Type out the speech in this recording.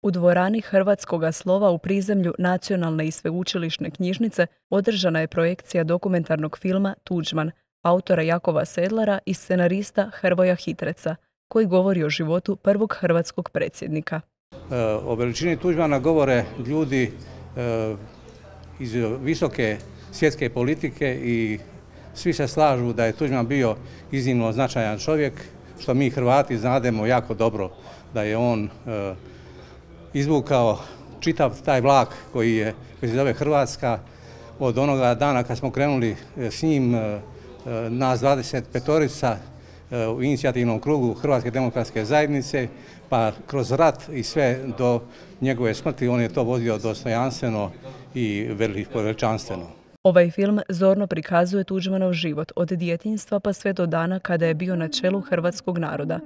U dvorani Hrvatskoga slova u prizemlju Nacionalne i sveučilišne knjižnice održana je projekcija dokumentarnog filma Tuđman, autora Jakova Sedlara i scenarista Hrvoja Hitreca, koji govori o životu prvog hrvatskog predsjednika. O veličini Tuđmana govore ljudi iz visoke svjetske politike i svi se slažu da je Tuđman bio iznimno značajan čovjek, što mi Hrvati znademo jako dobro, da je on izvukao čitav taj vlak koji se zove Hrvatska od onoga dana kad smo krenuli s njim, nas 25-orica u inicijativnom krugu Hrvatske demokratske zajednice, pa kroz rat i sve do njegove smrti on je to vodio dostojanstveno i veličanstveno. Ovaj film zorno prikazuje Tuđmanov život od djetinjstva pa sve do dana kada je bio na čelu hrvatskog naroda.